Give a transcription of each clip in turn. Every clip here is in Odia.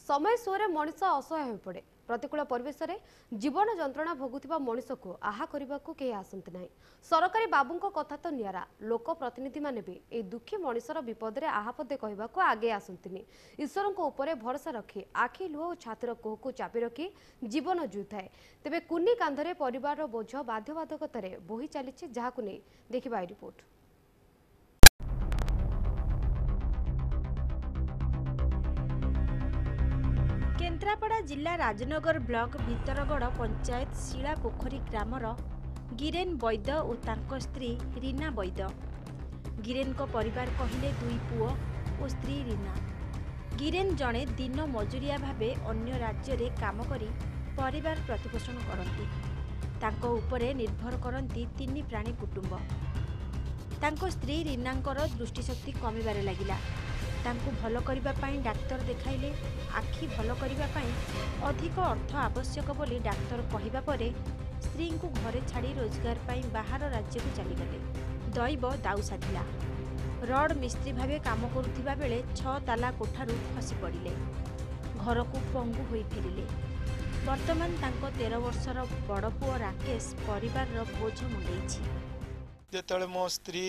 ସମୟ ସୁଅରେ ମଣିଷ ଅସହାୟ ହୋଇପଡ଼େ। ପ୍ରତିକୂଳ ପରିବେଶରେ ଜୀବନ ଯନ୍ତ୍ରଣା ଭୋଗୁଥିବା ମଣିଷକୁ ଆହା କରିବାକୁ କେହି ଆସନ୍ତି ନାହିଁ। ସରକାରୀ ବାବୁଙ୍କ କଥା ତ ନିଆରା, ଲୋକ ପ୍ରତିନିଧିମାନେ ବି ଏହି ଦୁଃଖୀ ମଣିଷର ବିପଦରେ ଆହା ପଦେ କହିବାକୁ ଆଗେଇ ଆସନ୍ତିନି। ଈଶ୍ୱରଙ୍କ ଉପରେ ଭରସା ରଖି ଆଖି ଲୁହ ଓ ଛାତିର କୋହକୁ ଚାପି ରଖି ଜୀବନ ଜୁଇଥାଏ। ତେବେ କୁନି କାନ୍ଧରେ ପରିବାରର ବୋଝ ବାଧ୍ୟବାଧକତାରେ ବୋହି ଚାଲିଛି, ଯାହାକୁ ନେଇ ଦେଖିବା ଏହି ରିପୋର୍ଟ। କେନ୍ଦ୍ରାପଡ଼ା ଜିଲ୍ଲା ରାଜନଗର ବ୍ଲକ ଭିତରଗଡ଼ ପଞ୍ଚାୟତ ଶିଳାପୋଖରୀ ଗ୍ରାମର ଗିରେନ ବୈଦ ଓ ତାଙ୍କ ସ୍ତ୍ରୀ ରୀନା ବୈଦ। ଗିରେନଙ୍କ ପରିବାର କହିଲେ ଦୁଇ ପୁଅ ଓ ସ୍ତ୍ରୀ ରୀନା। ଗିରେନ ଜଣେ ଦିନ ମଜୁରିଆ ଭାବେ ଅନ୍ୟ ରାଜ୍ୟରେ କାମ କରି ପରିବାର ପ୍ରତିପୋଷଣ କରନ୍ତି। ତାଙ୍କ ଉପରେ ନିର୍ଭର କରନ୍ତି ତିନି ପ୍ରାଣୀ କୁଟୁମ୍ବ। ତାଙ୍କ ସ୍ତ୍ରୀ ରୀନାଙ୍କର ଦୃଷ୍ଟିଶକ୍ତି କମିବାରେ ଲାଗିଲା। ତାଙ୍କୁ ଭଲ କରିବା ପାଇଁ ଡାକ୍ତର ଦେଖାଇଲେ। ଆଖି ଭଲ କରିବା ପାଇଁ ଅଧିକ ଅର୍ଥ ଆବଶ୍ୟକ ବୋଲି ଡାକ୍ତର କହିବା ପରେ ସ୍ତ୍ରୀଙ୍କୁ ଘରେ ଛାଡ଼ି ରୋଜଗାର ପାଇଁ ବାହାର ରାଜ୍ୟକୁ ଚାଲିଗଲେ। ଦୈବ ଦାଉ ସାଧିଲା। ରଡ୍ ମିସ୍ତ୍ରୀ ଭାବେ କାମ କରୁଥିବା ବେଳେ 6 ତାଲା କୋଠାରୁ ଖସି ପଡ଼ିଲେ। ଘରକୁ ପଙ୍ଗୁ ହୋଇ ଫେରିଲେ। ବର୍ତ୍ତମାନ ତାଙ୍କ 13 ବର୍ଷର ବଡ଼ ପୁଅ ରାକେଶ ପରିବାରର ବୋଝ ମୁଣ୍ଡେଇଛି। ଯେତେବେଳେ ମୋ ସ୍ତ୍ରୀ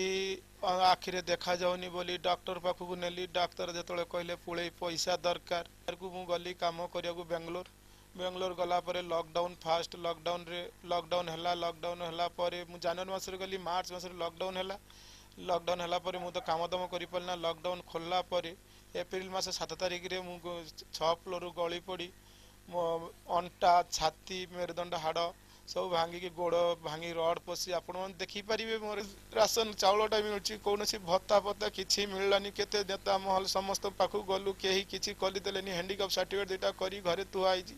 ଆଖିରେ ଦେଖାଯାଉନି ବୋଲି ଡକ୍ଟର ପାଖକୁ ନେଲି, ଡାକ୍ତର ଯେତେବେଳେ କହିଲେ ପୁଳେଇ ପଇସା ଦରକାର, ମୁଁ ଗଲି କାମ କରିବାକୁ ବାଙ୍ଗାଲୋର। ବାଙ୍ଗାଲୋର ଗଲା ପରେ ଲକଡାଉନ, ଫାଷ୍ଟ ଲକଡାଉନରେ ଲକଡାଉନ ହେଲା। ଲକଡାଉନ ହେଲା ପରେ ମୁଁ ଜାନୁଆରୀ ମାସରେ ଗଲି, ମାର୍ଚ୍ଚ ମାସରେ ଲକଡାଉନ ହେଲା। ଲକଡାଉନ ହେଲା ପରେ ମୁଁ ତ କାମ ଦାମ କରିପାରିଲି ନା। ଲକଡାଉନ ଖୋଲିଲା ପରେ ଏପ୍ରିଲ ମାସ 7 ତାରିଖରେ ମୁଁ 6 ଫ୍ଲୋରରୁ ଗଳି ପଡ଼ି ମୋ ଅଣ୍ଟା, ଛାତି, ମେରୁଦଣ୍ଡ ହାଡ଼ ସବୁ ଭାଙ୍ଗିକି, ଗୋଡ଼ ଭାଙ୍ଗି ରଡ୍ ପଶି, ଆପଣମାନେ ଦେଖିପାରିବେ। ମୋର ରାସନ ଚାଉଳଟା ମିଳୁଛି, କୌଣସି ଭତ୍ତା ଫତ୍ତା କିଛି ମିଳିଲାନି। କେତେ ନେତା ମହଲ ସମସ୍ତଙ୍କ ପାଖକୁ ଗଲୁ, କେହି କିଛି କରିଦେଲେନି। ହ୍ୟାଣ୍ଡିକାପ୍ ସାର୍ଟିଫିକେଟ୍ ଦୁଇଟା କରି ଘରେ ଥୁଆ ହେଇଛି।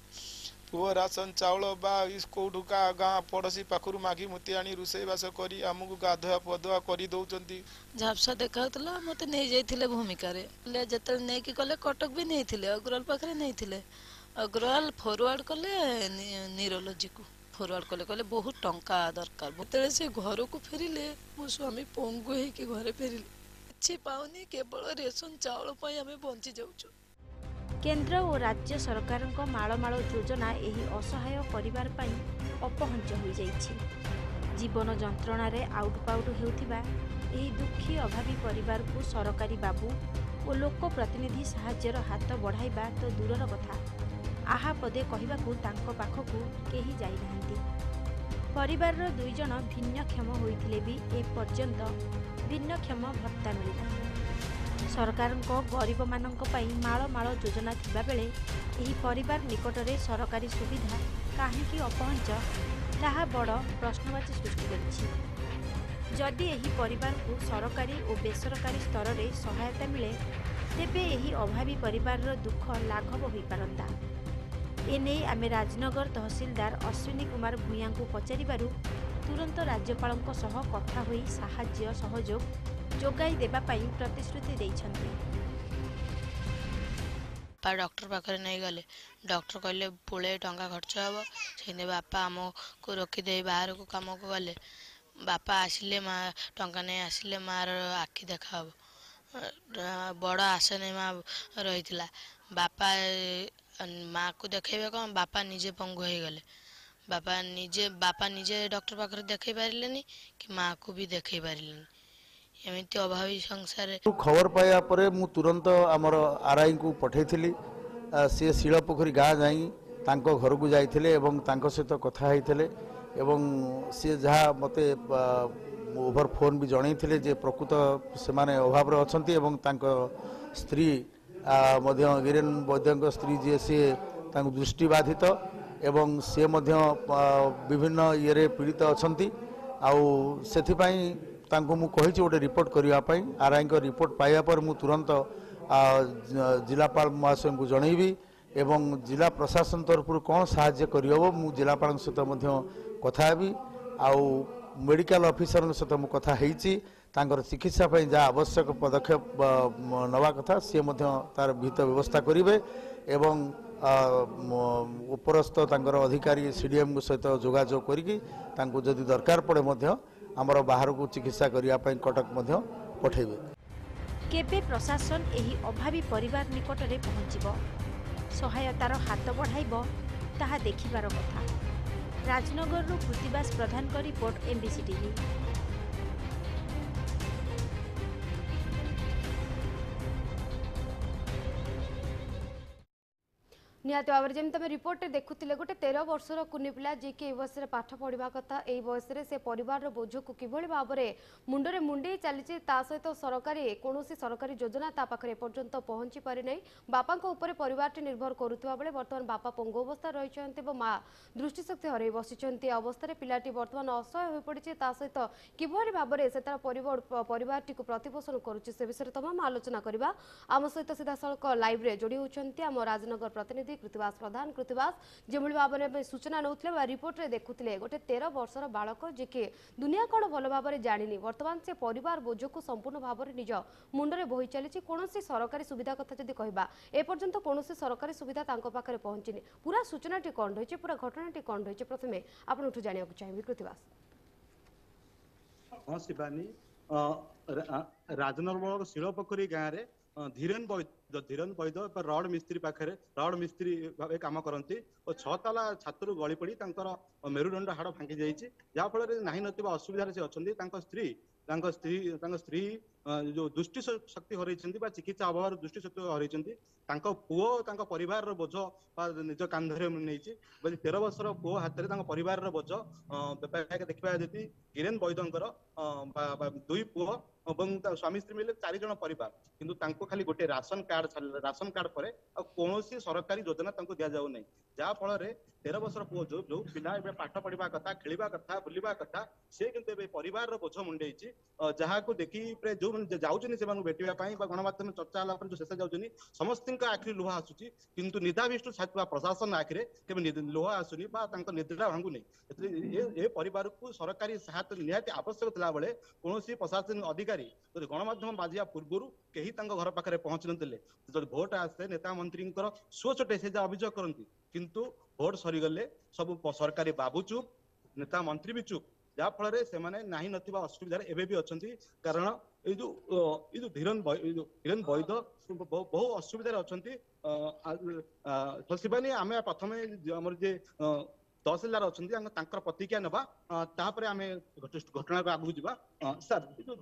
ପୁଅ ରାସନ ଚାଉଳ ବା କେଉଁଠୁ ଗାଁ ପଡ଼ୋଶୀ ପାଖରୁ ମାଗି ମୁତି ଆଣି ରୋଷେଇବାସ କରି ଆମକୁ ଗାଧୁଆ ପଧୁଆ କରି ଦେଉଛନ୍ତି। ଝାପ୍ସା ଦେଖାଉଥିଲା, ମୋତେ ନେଇଯାଇଥିଲେ ଭୂମିକାରେ। ଯେତେବେଳେ ନେଇକି ଗଲେ କଟକ ବି ନେଇଥିଲେ, ଅଗ୍ରୱାଲ ପାଖରେ ନେଇଥିଲେ। ଅଗ୍ରୱାଲ ଫରୱାର୍ଡ଼ କଲେ ନ୍ୟୁରୋଲୋଜିକୁ, ଫରୱାର୍ଡ଼ କଲେ, କହିଲେ ବହୁତ ଟଙ୍କା ଦରକାର। ଯେତେବେଳେ ସେ ଘରକୁ ଫେରିଲେ, ମୋ ସ୍ୱାମୀ ପଙ୍ଗୁ ହେଇକି ଘରେ ଫେରିଲେ। କିଛି ପାଉନି, କେବଳ ରେସନ ଚାଉଳ ପାଇଁ ଆମେ ବଞ୍ଚି ଯାଉଛୁ। କେନ୍ଦ୍ର ଓ ରାଜ୍ୟ ସରକାରଙ୍କ ମାଳମାଳ ଯୋଜନା ଏହି ଅସହାୟ ପରିବାର ପାଇଁ ଅପହଞ୍ଚ ହୋଇଯାଇଛି। ଜୀବନ ଯନ୍ତ୍ରଣାରେ ଆଉଟପାଉଟ ହେଉଥିବା ଏହି ଦୁଃଖୀ ଅଭାବୀ ପରିବାରକୁ ସରକାରୀ ବାବୁ ଓ ଲୋକ ପ୍ରତିନିଧି ସାହାଯ୍ୟର ହାତ ବଢ଼ାଇବା ତ ଦୂରର କଥା, ଆହା ପଦେ କହିବାକୁ ତାଙ୍କ ପାଖକୁ କେହି ଯାଇନାହାନ୍ତି। ପରିବାରର 2 ଜଣ ଭିନ୍ନକ୍ଷମ ହୋଇଥିଲେ ବି ଏପର୍ଯ୍ୟନ୍ତ ଭିନ୍ନକ୍ଷମ ଭତ୍ତା ମିଳିନାହିଁ। ସରକାରଙ୍କ ଗରିବମାନଙ୍କ ପାଇଁ ମାଳ ମାଳ ଯୋଜନା ଥିବାବେଳେ ଏହି ପରିବାର ନିକଟରେ ସରକାରୀ ସୁବିଧା କାହିଁକି ଅପହଞ୍ଚ, ତାହା ବଡ଼ ପ୍ରଶ୍ନବାଚୀ ସୃଷ୍ଟି କରିଛି। ଯଦି ଏହି ପରିବାରକୁ ସରକାରୀ ଓ ବେସରକାରୀ ସ୍ତରରେ ସହାୟତା ମିଳେ, ତେବେ ଏହି ଅଭାବୀ ପରିବାରର ଦୁଃଖ ଲାଘବ ହୋଇପାରନ୍ତା। ଏନେଇ ଆମେ ରାଜନଗର ତହସିଲଦାର ଅଶ୍ୱିନୀ କୁମାର ଭୂୟାଁଙ୍କୁ ପଚାରିବାରୁ ତୁରନ୍ତ ରାଜ୍ୟପାଳଙ୍କ ସହ କଥା ହୋଇ ସାହାଯ୍ୟ ସହଯୋଗ ଯୋଗାଇ ଦେବା ପାଇଁ ପ୍ରତିଶ୍ରୁତି ଦେଇଛନ୍ତି। ବାପା ଡକ୍ଟର ପାଖରେ ନେଇଗଲେ, ଡକ୍ଟର କହିଲେ ପୁଳେ ଟଙ୍କା ଖର୍ଚ୍ଚ ହେବ। ସେଇଠି ବାପା ଆମକୁ ରଖିଦେଇ ବାହାରକୁ କାମକୁ ଗଲେ। ବାପା ଆସିଲେ, ମା ଟଙ୍କା ନେଇ ଆସିଲେ ମାର ଆଖି ଦେଖାହବ। ବଡ଼ ଆଶା ନେଇ ମା ରହିଥିଲା। ବାପା ମାଆକୁ ଦେଖେଇବେ କ'ଣ, ବାପା ନିଜେ ପଙ୍ଗୁ ହେଇଗଲେ। ବାପା ନିଜେ ଡକ୍ଟର ପାଖରେ ଦେଖେଇ ପାରିଲେନି କି ମାଆକୁ ବି ଦେଖେଇ ପାରିଲେନି। ଏମିତି ଅଭାବୀ ସଂସାରରେ। ଖବର ପାଇବା ପରେ ମୁଁ ତୁରନ୍ତ ଆମର ଆର୍ଆଇଙ୍କୁ ପଠାଇଥିଲି। ସିଏ ଶିଳପୋଖରୀ ଗାଁ ଯାଇ ତାଙ୍କ ଘରକୁ ଯାଇଥିଲେ ଏବଂ ତାଙ୍କ ସହିତ କଥା ହେଇଥିଲେ ଏବଂ ସିଏ ଯାହା ମୋତେ ଓଭର ଫୋନ୍ ବି ଜଣାଇଥିଲେ ଯେ ପ୍ରକୃତ ସେମାନେ ଅଭାବରେ ଅଛନ୍ତି ଏବଂ ତାଙ୍କ ସ୍ତ୍ରୀ ମଧ୍ୟ, ଗିରେନ ବୈଦ୍ୟଙ୍କ ସ୍ତ୍ରୀ ଯିଏ, ସିଏ ତାଙ୍କୁ ଦୃଷ୍ଟିବାଧିତ ଏବଂ ସିଏ ମଧ୍ୟ ବିଭିନ୍ନ ଇଏରେ ପୀଡ଼ିତ ଅଛନ୍ତି। ଆଉ ସେଥିପାଇଁ ତାଙ୍କୁ ମୁଁ କହିଛି ଗୋଟେ ରିପୋର୍ଟ କରିବା ପାଇଁ। ଆର୍ଆଇଙ୍କ ରିପୋର୍ଟ ପାଇବା ପରେ ମୁଁ ତୁରନ୍ତ ଜିଲ୍ଲାପାଳ ମହାଶୟଙ୍କୁ ଜଣାଇବି ଏବଂ ଜିଲ୍ଲା ପ୍ରଶାସନ ତରଫରୁ କ'ଣ ସାହାଯ୍ୟ କରିହେବ ମୁଁ ଜିଲ୍ଲାପାଳଙ୍କ ସହିତ ମଧ୍ୟ କଥା ହେବି। ଆଉ ମେଡ଼ିକାଲ ଅଫିସରଙ୍କ ସହିତ ମୁଁ କଥା ହେଇଛି। ତାଙ୍କର ଚିକିତ୍ସା ପାଇଁ ଯାହା ଆବଶ୍ୟକ ପଦକ୍ଷେପ ନେବା କଥା ସିଏ ମଧ୍ୟ ତାର ବିହିତ ବ୍ୟବସ୍ଥା କରିବେ ଏବଂ ଉପରସ୍ଥ ତାଙ୍କର ଅଧିକାରୀ ସିଡ଼ିଏମ୍ଙ୍କ ସହିତ ଯୋଗାଯୋଗ କରିକି ତାଙ୍କୁ ଯଦି ଦରକାର ପଡ଼େ ମଧ୍ୟ ଆମର ବାହାରକୁ ଚିକିତ୍ସା କରିବା ପାଇଁ କଟକ ମଧ୍ୟ ପଠାଇବେ। କେବେ ପ୍ରଶାସନ ଏହି ଅଭାବୀ ପରିବାର ନିକଟରେ ପହଞ୍ଚିବ? ସହାୟତାର ହାତ ବଢ଼ାଇବ ତାହା ଦେଖିବାର କଥା। ରାଜନଗରରୁ କୃତିବାସ ପ୍ରଧାନଙ୍କ ରିପୋର୍ଟ, ଏମ୍ବିସି ଟିଭି। ନିହାତି ଭାବରେ ଯେମିତି ଆମେ ରିପୋର୍ଟରେ ଦେଖୁଥିଲେ, ଗୋଟେ 13 ବର୍ଷର କୁନି ପିଲା ଯିଏକି ଏଇ ବୟସରେ ପାଠ ପଢ଼ିବା କଥା, ଏଇ ବୟସରେ ସେ ପରିବାରର ବୋଝକୁ କିଭଳି ଭାବରେ ମୁଣ୍ଡରେ ମୁଣ୍ଡେଇ ଚାଲିଛି, ତା ସହିତ ସରକାରୀ କୌଣସି ସରକାରୀ ଯୋଜନା ତା ପାଖରେ ଏପର୍ଯ୍ୟନ୍ତ ପହଞ୍ଚି ପାରିନାହିଁ। ବାପାଙ୍କ ଉପରେ ପରିବାରଟି ନିର୍ଭର କରୁଥିବା ବେଳେ ବର୍ତ୍ତମାନ ବାପା ପଙ୍ଗୁ ଅବସ୍ଥାରେ ରହିଛନ୍ତି ଏବଂ ମା ଦୃଷ୍ଟିଶକ୍ତି ହରାଇ ବସିଛନ୍ତି। ଏ ଅବସ୍ଥାରେ ପିଲାଟି ବର୍ତ୍ତମାନ ଅସହାୟ ହୋଇପଡ଼ିଛି। ତା ସହିତ କିଭଳି ଭାବରେ ସେ ତାର ପରିବାରଟିକୁ ପ୍ରତିପୋଷଣ କରୁଛି ସେ ବିଷୟରେ ତମାମ ଆଲୋଚନା କରିବା। ଆମ ସହିତ ସିଧାସଳଖ ଲାଇଭ୍ରେ ଯୋଡ଼ି ହେଉଛନ୍ତି ଆମ ରାଜନଗର ପ୍ରତିନିଧି କୃତିବାସ ପ୍ରଧାନ। କୃତିବାସ, ଯେଭଳି ଭାବରେ ଆମେ ସୂଚନା ନେଉଥିଲେ ବା ରିପୋର୍ଟରେ ଦେଖୁଥିଲେ, ଗୋଟେ 13 ବର୍ଷର ବାଳକ ଯିଏକି ଦୁନିଆ କ'ଣ ଭଲ ଭାବରେ ଜାଣିନି, ବର୍ତ୍ତମାନ ସେ ପରିବାର ବୋଝକୁ ସମ୍ପୂର୍ଣ୍ଣ ଭାବରେ ନିଜ ମୁଣ୍ଡରେ ବୋହି ଚାଲିଛି। କୌଣସି ସରକାରୀ ସୁବିଧା କଥା ଯଦି କହିବା, ଏପର୍ଯ୍ୟନ୍ତ କୌଣସି ସରକାରୀ ସୁବିଧା ତାଙ୍କ ପାଖରେ ପହଞ୍ଚିନି। ପୁରା ସୂଚନାଟି କ'ଣ ରହିଛି, ପୁରା ଘଟଣାଟି କ'ଣ ରହିଛି, ପ୍ରଥମେ ଆପଣଙ୍କଠୁ ଜାଣିବାକୁ ଚାହିଁବି କୃତିବାସ। ହଁ ଶିବାନୀ, ରାଜନଗର ଶିଳପୋଖରୀ ଗାଁରେ ଧୀରେନ ବୈଦ, ଧୀରେନ ବୈଦ ରଡ ମିସ୍ତ୍ରୀ ପାଖରେ ରଡ ମିସ୍ତ୍ରୀ ଭାବେ କାମ କରନ୍ତି ଓ 6 ତାଲା ଛାତରୁ ଗଳି ପଡି ତାଙ୍କର ମେରୁଦଣ୍ଡ ହାଡ଼ ଭାଙ୍ଗି ଯାଇଛି, ଯାହାଫଳରେ ନାହିଁ ନଥିବା ଅସୁବିଧାରେ ସେ ଅଛନ୍ତି। ତାଙ୍କ ସ୍ତ୍ରୀ ତାଙ୍କ ସ୍ତ୍ରୀ ତାଙ୍କ ସ୍ତ୍ରୀ ଯୋଉ ଦୃଷ୍ଟି ଶକ୍ତି ହରାଇଛନ୍ତି ବା ଚିକିତ୍ସା ଅଭାବରୁ ଦୃଷ୍ଟି ଶକ୍ତି ହରାଇଛନ୍ତି। ତାଙ୍କ ପୁଅ ତାଙ୍କ ପରିବାରର ବୋଝ ବା ନିଜ କାନ୍ଧରେ ନେଇଛି ବୋଲି 13 ବର୍ଷର ପୁଅ ହାତରେ ତାଙ୍କ ପରିବାରର ବୋଝ ଦେଖିବା ଯଦି ଗିରେନ ବୈଦଙ୍କର 2 ପୁଅ ଏବଂ ସ୍ୱାମୀ ସ୍ତ୍ରୀ ମିଲେ 4 ଜଣ ପରିବାର, କିନ୍ତୁ ତାଙ୍କୁ ଖାଲି ଗୋଟେ ରାସନ କାର୍ଡ, ରାସନ କାର୍ଡ ପରେ ଆଉ କୌଣସି ସରକାରୀ ଯୋଜନା ତାଙ୍କୁ ଦିଆଯାଉ ନାହିଁ। ଯାହା ଫଳରେ 13 ବର୍ଷର ପୁଅ, ଯୋଉ ଯୋଉ ପିଲା ଏବେ ପାଠ ପଢିବା କଥା, ଖେଳିବା କଥା, ବୁଲିବା କଥା, ସେ କିନ୍ତୁ ଏବେ ପରିବାରର ବୋଝ ମୁଣ୍ଡେଇଛି। ଯାହାକୁ ଦେଖି ପ୍ରାୟ ଯୋଉମାନେ ଯାଉଛନ୍ତି ସେମାନଙ୍କୁ ଭେଟିବା ପାଇଁ ବା ଗଣମାଧ୍ୟମ ଚର୍ଚ୍ଚା ହେଲା ପରେ ଯୋଉ ଶେଷ ଯାଉଛନ୍ତି, ସମସ୍ତଙ୍କ ଆଖିରେ ଲୁହ ଆସୁଛି, କିନ୍ତୁ ନିଦାବିଷ୍ଣୁ ଛାଥିବା ପ୍ରଶାସନ ଆଖିରେ କେବେ ଲୁହ ଆସୁନି ବା ତାଙ୍କ ନିଦ୍ରା ଭାଙ୍ଗୁନି। ଏ ପରିବାରକୁ ସରକାରୀ ସହାୟତା ନିହାତି ଆବଶ୍ୟକ ଥିଲାବେଳେ କୌଣସି ପ୍ରଶାସନିକ ଅଧିକାରୀ ଯଦି ଗଣମାଧ୍ୟମ ବାଜିବା ପୂର୍ବରୁ କେହି ତାଙ୍କ ଘର ପାଖରେ ପହଞ୍ଚି ନଥିଲେ। ଯଦି ଭୋଟ ଆସେ ନେତା ମନ୍ତ୍ରୀଙ୍କର ସୁଅଛୋଟେ ସେ ଯାହା ଅଭିଯୋଗ କରନ୍ତି, କିନ୍ତୁ ଭୋଟ ସରିଗଲେ ସବୁ ସରକାରୀ ବାବୁ ଚୁପ୍, ନେତା ମନ୍ତ୍ରୀ ବି ଚୁପ୍, ଯାହା ଫଳରେ ସେମାନେ ନାହିଁ ନଥିବା ଅସୁବିଧାରେ ଏବେ ବି ଅଛନ୍ତି। କାରଣ ଏଇ ଯୋଉ ଧୀରନ ଧୀରେନ ବୈଦ ବହୁ ଅସୁବିଧାରେ ଅଛନ୍ତି। ଶିବାନୀ, ଆମେ ପ୍ରଥମେ ଆମର ଯେ ତହସିଲଦାର ଅଛନ୍ତି ତାଙ୍କର ପ୍ରତିକ୍ରିୟା ନେବା, ତାପରେ ଆମେ ଘଟଣାକୁ ଆଗକୁ ଯିବା। ସାର୍, ଏ ଯୋଉ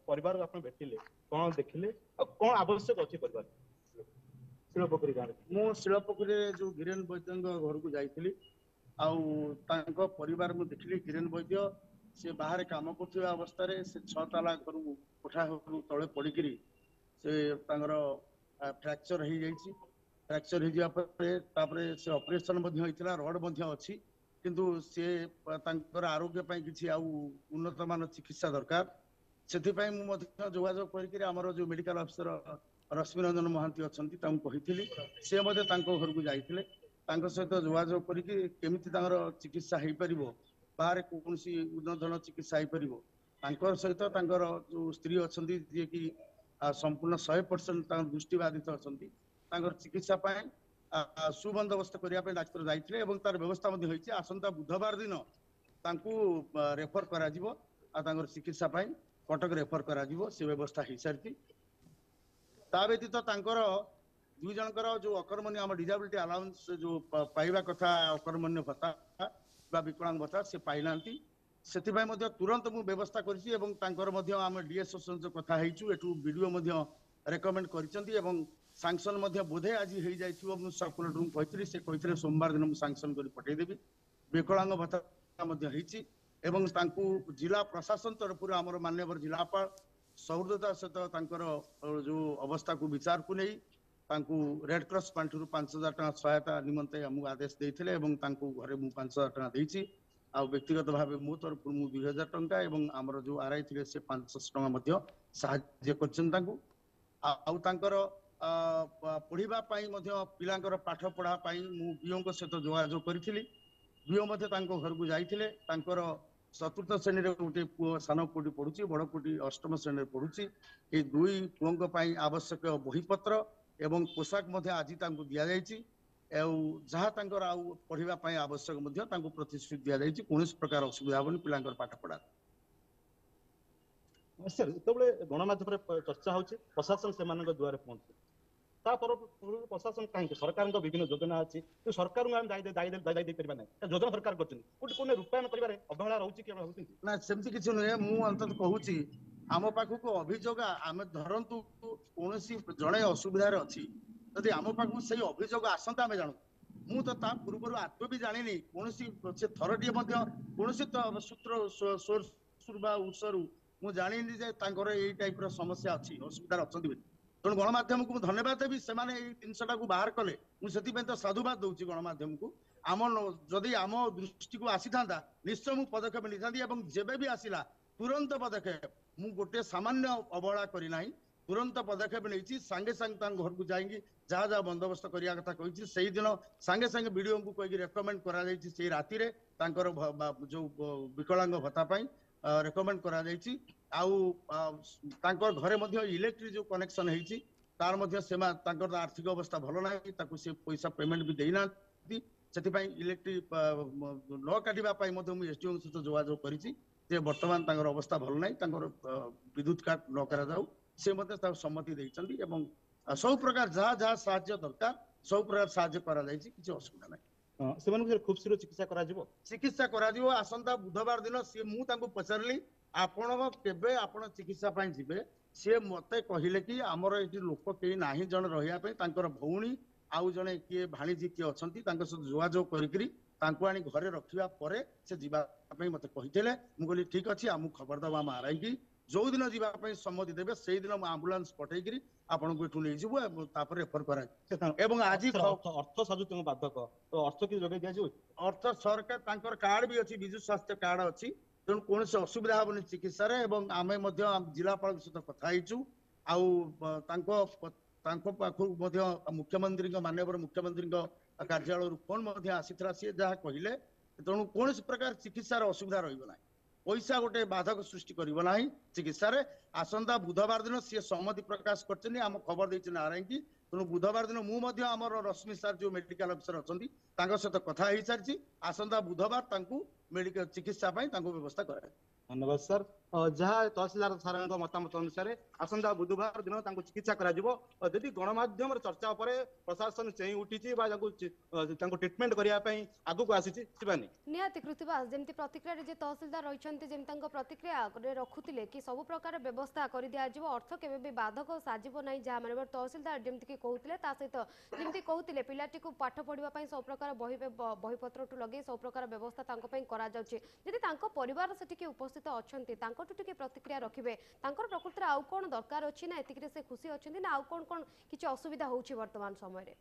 ପରିବାରକୁ ଆପଣ ଭେଟିଲେ, କଣ ଦେଖିଲେ ଆଉ କଣ ଆବଶ୍ୟକ ଅଛି ପରିବାର ଶିଳପୋଖରୀ ଗାଁରେ? ମୁଁ ଶିଳପୋଖରୀରେ ଯୋଉ ଗିରେନ ବୈଦ୍ୟଙ୍କ ଘରକୁ ଯାଇଥିଲି ଆଉ ତାଙ୍କ ପରିବାର ମୁଁ ଦେଖିଲି। ଗିରେନ ବୈଦ୍ୟ ସେ ବାହାରେ କାମ କରୁଥିବା ଅବସ୍ଥାରେ ସେ 6 ତାଲା ଘରୁ କୋଠା ଘରୁ ତଳେ ପଡିକିରି ସେ ତାଙ୍କର ଫ୍ରାକ୍ଚର ହେଇଯାଇଛି। ଫ୍ରାକ୍ଚର ହେଇଯିବା ପରେ ତାପରେ ସେ ଅପରେସନ ମଧ୍ୟ ହେଇଥିଲା, ରଡ ମଧ୍ୟ ଅଛି, କିନ୍ତୁ ସେ ତାଙ୍କର ଆରୋଗ୍ୟ ପାଇଁ କିଛି ଆଉ ଉନ୍ନତମାନ ଚିକିତ୍ସା ଦରକାର। ସେଥିପାଇଁ ମୁଁ ମଧ୍ୟ ଯୋଗାଯୋଗ କରିକିରି ଆମର ଯୋଉ ମେଡିକାଲ ଅଫିସର ରଶ୍ମିରଞ୍ଜନ ମହାନ୍ତି ଅଛନ୍ତି ତାଙ୍କୁ କହିଥିଲି। ସେ ମଧ୍ୟ ତାଙ୍କ ଘରକୁ ଯାଇଥିଲେ, ତାଙ୍କ ସହିତ ଯୋଗାଯୋଗ କରିକି କେମିତି ତାଙ୍କର ଚିକିତ୍ସା ହେଇପାରିବ, ବାହାରେ କୌଣସି ଉନ୍ନତଧରଣ ଚିକିତ୍ସା ହେଇପାରିବ। ତାଙ୍କର ସହିତ ତାଙ୍କର ଯୋଉ ସ୍ତ୍ରୀ ଅଛନ୍ତି, ଯିଏକି ସମ୍ପୂର୍ଣ୍ଣ 100% ତାଙ୍କର ଦୃଷ୍ଟିବାଧିତ ଅଛନ୍ତି, ତାଙ୍କର ଚିକିତ୍ସା ପାଇଁ ସୁବନ୍ଦୋବସ୍ତ କରିବା ପାଇଁ ଡାକ୍ତର ଯାଇଥିଲେ ଏବଂ ତାର ବ୍ୟବସ୍ଥା ମଧ୍ୟ ହେଇଛି। ଆସନ୍ତା ବୁଧବାର ଦିନ ତାଙ୍କୁ ରେଫର କରାଯିବ ଆଉ ତାଙ୍କର ଚିକିତ୍ସା ପାଇଁ କଟକ ରେଫର କରାଯିବ, ସେ ବ୍ୟବସ୍ଥା ହେଇସାରିଛି। ତା ବ୍ୟତୀତ ତାଙ୍କର 2 ଜଣଙ୍କର ଯୋଉ ଅକର୍ମଣ୍ୟ ଆମ ଡିଜାବିଲିଟି ଆଲାଉନ୍ସ ଯୋଉ ପାଇବା କଥା, ଅକର୍ମଣ୍ୟ ଭତ୍ତା ବା ବିକଳାଙ୍ଗ ଭତ୍ତା, ସେ ପାଇନାହାନ୍ତି। ସେଥିପାଇଁ ମଧ୍ୟ ତୁରନ୍ତ ମୁଁ ବ୍ୟବସ୍ଥା କରିଛି ଏବଂ ତାଙ୍କର ମଧ୍ୟ ଆମେ ଡିଏସ୍ଓ ସହିତ କଥା ହେଇଛୁ। ଏଠୁ ବିଡିଓ ମଧ୍ୟ ରେକମେଣ୍ଡ କରିଛନ୍ତି ଏବଂ ସାଙ୍କସନ ମଧ୍ୟ ବୋଧେ ଆଜି ହେଇଯାଇଥିବ। ମୁଁ ସବକଲେକ୍ଟରଙ୍କୁ କହିଥିଲି, ସେ କହିଥିଲେ ସୋମବାର ଦିନ ମୁଁ ସାଙ୍କସନ କରି ପଠେଇଦେବି। ବିକଳାଙ୍ଗ ଭତ୍ତା ମଧ୍ୟ ହେଇଛି ଏବଂ ତାଙ୍କୁ ଜିଲ୍ଲା ପ୍ରଶାସନ ତରଫରୁ ଆମର ମାନ୍ୟବର ଜିଲ୍ଲାପାଳ ସହୃଦୟତା ସହିତ ତାଙ୍କର ଯୋଉ ଅବସ୍ଥାକୁ ବିଚାରକୁ ନେଇ ତାଙ୍କୁ ରେଡକ୍ରସ୍ ପାଣ୍ଠିରୁ 5000 ଟଙ୍କା ସହାୟତା ନିମନ୍ତେ ଆମକୁ ଆଦେଶ ଦେଇଥିଲେ ଏବଂ ତାଙ୍କୁ ଘରେ ମୁଁ 5000 ଟଙ୍କା ଦେଇଛି। ଆଉ ବ୍ୟକ୍ତିଗତ ଭାବେ ମୋ ତରଫରୁ ମୁଁ 2000 ଟଙ୍କା ଏବଂ ଆମର ଯୋଉ ଆର୍ I ଥିଲେ ସେ 500 ଟଙ୍କା ମଧ୍ୟ ସାହାଯ୍ୟ କରିଛନ୍ତି ତାଙ୍କୁ। ଆଉ ତାଙ୍କର ପଢିବା ପାଇଁ ମଧ୍ୟ ପିଲାଙ୍କର ପାଠ ପଢା ପାଇଁ ମୁଁ ବିଓଙ୍କ ସହିତ ଯୋଗାଯୋଗ କରିଥିଲି। ବିଓ ମଧ୍ୟ ତାଙ୍କ ଘରକୁ ଯାଇଥିଲେ। ତାଙ୍କର 4ର୍ଥ ଶ୍ରେଣୀରେ ଗୋଟେ ପୁଅ, ସାନ ପୁଅଟି ପଢୁଛି, ବଡ ପୁଅଟି 8ମ ଶ୍ରେଣୀରେ ପଢୁଛି। ଏଇ 2 ପୁଅଙ୍କ ପାଇଁ ଆବଶ୍ୟକ ବହିପତ୍ର ଏବଂ ପୋଷାକ ମଧ୍ୟ ଆଜି ତାଙ୍କୁ ଦିଆଯାଇଛି। ଆଉ ଯାହା ତାଙ୍କର ଆଉ ପଢିବା ପାଇଁ ଆବଶ୍ୟକ ମଧ୍ୟ ତାଙ୍କୁ ପ୍ରତିଶ୍ରୁତି ଦିଆଯାଇଛି। କୌଣସି ପ୍ରକାର ଅସୁବିଧା ହବନି ପିଲାଙ୍କର ପାଠ ପଢା। ସାର୍, ଯେତେବେଳେ ଗଣମାଧ୍ୟମରେ ଚର୍ଚ୍ଚା ହଉଛି, ପ୍ରଶାସନ ସେମାନଙ୍କ ଦୁଆରେ ପହଞ୍ଚୁଛି। ତା ପରକୁ ପ୍ରଶାସନ କାହିଁକି, ସରକାରଙ୍କ ବିଭିନ୍ନ ଯୋଜନା ଅଛି, କିନ୍ତୁ ସରକାରଙ୍କୁ ଆମେ ଦାୟୀ ଦାୟୀ ଦାୟୀ ଦେଇପାରିବା ନାହିଁ। ଯୋଜନା ସରକାର କରିଛନ୍ତି, କୋଉଠି କୋଉଠି ରୂପାୟନ କରିବାରେ ଅବହେଳା ରହୁଛି କି ଭାବୁଛନ୍ତି? ନା, ସେମିତି କିଛି ନୁହେଁ। ମୁଁ ଅନ୍ତତଃ କହୁଛି, ଆମ ପାଖକୁ ଅଭିଯୋଗ, ଆମେ ଧରନ୍ତୁ କୌଣସି ଜଣେ ଅସୁବିଧାରେ ଅଛି, ଯଦି ଆମ ପାଖକୁ ସେଇ ଅଭିଯୋଗ ଆସନ୍ତା ଆମେ ଜାଣୁ। ମୁଁ ତ ତା ପୂର୍ବରୁ ଆଦୌ ବି ଜାଣିନି, କୌଣସି ସେ ଥରଟିଏ ମଧ୍ୟ କୌଣସି ସୂତ୍ର ସୋର୍ସ ବା ଉତ୍ସରୁ ମୁଁ ଜାଣିନି ଯେ ତାଙ୍କର ଏଇ ଟାଇପର ସମସ୍ୟା ଅଛି, ଅସୁବିଧାରେ ଅଛନ୍ତି ବୋଲି। ତେଣୁ ଗଣମାଧ୍ୟମକୁ ମୁଁ ଧନ୍ୟବାଦ ଦେବି, ସେମାନେ ଏଇ ଜିନିଷଟାକୁ ବାହାର କଲେ। ମୁଁ ସେଥିପାଇଁ ତ ସାଧୁବାଦ ଦଉଛି ଗଣମାଧ୍ୟମକୁ। ଆମ ଯଦି ଆମ ଦୃଷ୍ଟିକୁ ଆସିଥାନ୍ତା, ନିଶ୍ଚୟ ମୁଁ ପଦକ୍ଷେପ ନେଇଥାନ୍ତି। ଏବଂ ଯେବେ ବି ଆସିଲା ତୁରନ୍ତ ପଦକ୍ଷେପ, ମୁଁ ଗୋଟେ ସାମାନ୍ୟ ଅବହେଳା କରିନାହିଁ, ତୁରନ୍ତ ପଦକ୍ଷେପ ନେଇଛି। ସାଙ୍ଗେ ସାଙ୍ଗେ ତାଙ୍କ ଘରକୁ ଯାଇକି ଯାହା ଯାହା ବନ୍ଦୋବସ୍ତ କରିବା କଥା କହିଛି। ସେଇଦିନ ସାଙ୍ଗେ ସାଙ୍ଗେ ବିଡିଓଙ୍କୁ କହିକି ରେକମେଣ୍ଡ କରାଯାଇଛି, ସେଇ ରାତିରେ ତାଙ୍କର ଯୋଉ ବିକଳାଙ୍ଗ ଭତ୍ତା ପାଇଁ ରେକମେଣ୍ଡ କରାଯାଇଛି। ଆଉ ତାଙ୍କ ଘରେ ମଧ୍ୟ ଇଲେକ୍ଟ୍ରିକ ଯୋଉ କନେକ୍ସନ ହେଇଛି, ତାର ମଧ୍ୟ ସେମା ତାଙ୍କର ଆର୍ଥିକ ଅବସ୍ଥା ଭଲ ନାହିଁ, ତାକୁ ସେ ପଇସା ପେମେଣ୍ଟ ବି ଦେଇନାହାନ୍ତି। ସେଥିପାଇଁ ଇଲେକ୍ଟ୍ରିକ ନ କାଟିବା ପାଇଁ ମଧ୍ୟ ମୁଁ ଏସଡିଓଙ୍କ ସହିତ ଯୋଗାଯୋଗ କରିଛି ଯେ ବର୍ତ୍ତମାନ ତାଙ୍କର ଅବସ୍ଥା ଭଲ ନାହିଁ, ତାଙ୍କର ବିଦ୍ୟୁତ କାଟ ନ କରାଯାଉ। ସେ ମଧ୍ୟ ତାକୁ ସମ୍ମତି ଦେଇଛନ୍ତି ଏବଂ ସବୁ ପ୍ରକାର ଯାହା ଯାହା ସାହାଯ୍ୟ ଦରକାର ସବୁ ପ୍ରକାର ସାହାଯ୍ୟ କରାଯାଇଛି, କିଛି ଅସୁବିଧା ନାହିଁ। ସେମାନଙ୍କୁ ଖୁବ ଶୀଘ୍ର ଚିକିତ୍ସା କରାଯିବ? ଚିକିତ୍ସା କରାଯିବ ଆସନ୍ତା ବୁଧବାର ଦିନ। ସିଏ, ମୁଁ ତାଙ୍କୁ ପଚାରିଲି ଆପଣ କେବେ ଆପଣ ଚିକିତ୍ସା ପାଇଁ ଯିବେ, ସିଏ ମତେ କହିଲେ କି ଆମର ଏଠି ଲୋକ କେହି ନାହିଁ ଜଣେ ରହିବା ପାଇଁ, ତାଙ୍କର ଭଉଣୀ ଆଉ ଜଣେ କିଏ ଭାଣିଜୀ କିଏ ଅଛନ୍ତି, ତାଙ୍କ ସହିତ ଯୋଗାଯୋଗ କରିକିରି ତାଙ୍କୁ ଆଣି ଘରେ ରଖିବା ପରେ ସେ ଯିବା ପାଇଁ ମତେ କହିଥିଲେ। ମୁଁ କହିଲି ଠିକ ଅଛି, ଆମକୁ ଖବର ଦବା ଆମ ଆରାଇକି, ଯୋଉ ଦିନ ଯିବା ପାଇଁ ସମ୍ମତି ଦେବେ ସେଇଦିନ ମୁଁ ଆମ୍ବୁଲାନ୍ସ ପଠେଇକିରି ଆପଣଙ୍କୁ ଏଠୁ ନେଇଯିବୁ ଏବଂ ତାପରେ ରେଫର କରାଯିବ। ଏବଂ ଆଜି ଅର୍ଥ ସାଜୁ ବାଧକ, ତ ଅର୍ଥ କି ଯୋଗାଇ ଦିଆଯିବ? ଅର୍ଥ ସରକାର, ତାଙ୍କର କାର୍ଡ ବି ଅଛି, ବିଜୁ ସ୍ୱାସ୍ଥ୍ୟ କାର୍ଡ ଅଛି, ତେଣୁ କୌଣସି ଅସୁବିଧା ହବନି ଚିକିତ୍ସାରେ। ଏବଂ ଆମେ ମଧ୍ୟ ଜିଲ୍ଲାପାଳଙ୍କ ସହିତ କଥା ହେଇଛୁ ଆଉ ତାଙ୍କ ପାଖକୁ ମଧ୍ୟ ମୁଖ୍ୟମନ୍ତ୍ରୀଙ୍କ, ମାନ୍ୟବର ମୁଖ୍ୟମନ୍ତ୍ରୀଙ୍କ କାର୍ଯ୍ୟାଳୟରୁ ଫୋନ ମଧ୍ୟ ଆସିଥିଲା, ସିଏ ଯାହା କହିଲେ। ତେଣୁ କୌଣସି ପ୍ରକାର ଚିକିତ୍ସାର ଅସୁବିଧା ରହିବ ନାହିଁ, ପଇସା ଗୋଟେ ବାଧକ ସୃଷ୍ଟି କରିବ ନାହିଁ ଚିକିତ୍ସାରେ। ଆସନ୍ତା ବୁଧବାର ଦିନ ସିଏ ସମ୍ମତି ପ୍ରକାଶ କରିଛନ୍ତି, ଆମ ଖବର ଦେଇଛନ୍ତି ଆରାଇକି। ତେଣୁ ବୁଧବାର ଦିନ ମୁଁ ମଧ୍ୟ ଆମର ରଶ୍ମି ସାର୍ ଯୋଉ ମେଡିକାଲ ଅଫିସର ଅଛନ୍ତି ତାଙ୍କ ସହିତ କଥା ହେଇସାରିଛି, ଆସନ୍ତା ବୁଧବାର ତାଙ୍କୁ ମେଡିକାଲ ଚିକିତ୍ସା ପାଇଁ ତାଙ୍କୁ ବ୍ୟବସ୍ଥା କରାଯିବ। ଧନ୍ୟବାଦ ସାର୍। ଯାହା ତହସିଲଦାର ସାରଙ୍କ ମତାମତ ଅନୁସାରେ ଆସନ୍ତା ବୁଧବାର ଦିନ ତାଙ୍କୁ ଚିକିତ୍ସା କରାଯିବ। ଯଦି ଗଣମାଧ୍ୟମର ଚର୍ଚ୍ଚା ଉପରେ ପ୍ରଶାସନ ଚେଇଁ ଉଠିଛି ବା ତାଙ୍କୁ ଟ୍ରିଟମେଣ୍ଟ କରିବା ପାଇଁ ଆଗକୁ ଆସିଛି, ଶିବାନୀ। ନିହାତି କୃତିବାସ, ଯେମିତି ପ୍ରତିକ୍ରିୟାରେ ଯେ ତହସିଲଦାର ରହିଛନ୍ତି, ଯେମିତି ତାଙ୍କ ପ୍ରତିକ୍ରିୟାରେ ରଖୁଥିଲେ କି ସବୁ ପ୍ରକାର ବ୍ୟବସ୍ଥା କରିଦିଆଯିବ, ଅର୍ଥ କେବେ ବି ବାଧକ ସାଜିବ ନାହିଁ, ଯାହା ମାନେ ତହସିଲଦାର ଯେମିତିକି କହୁଥିଲେ। ତା ସହିତ ଯେମିତି କହୁଥିଲେ ପିଲାଟିକୁ ପାଠ ପଢ଼ିବା ପାଇଁ ସବୁ ପ୍ରକାର ବହି ବହିପତ୍ରଠୁ ଲଗେଇ ସବୁ ପ୍ରକାର ବ୍ୟବସ୍ଥା ତାଙ୍କ ପାଇଁ କରାଯାଉଛି। ଯଦି ତାଙ୍କ ପରିବାର ସେଠିକି ଉପସ୍ଥିତ ଅଛନ୍ତି, ତାଙ୍କଠୁ ଟିକେ ପ୍ରତିକ୍ରିୟା ରଖିବେ, ତାଙ୍କର ପ୍ରକୃତରେ ଆଉ କ'ଣ ଦରକାର ଅଛି, ନା ଏତିକିରେ ସେ ଖୁସି ଅଛନ୍ତି, ନା ଆଉ କ'ଣ କ'ଣ କିଛି ଅସୁବିଧା ହେଉଛି ବର୍ତ୍ତମାନ ସମୟରେ?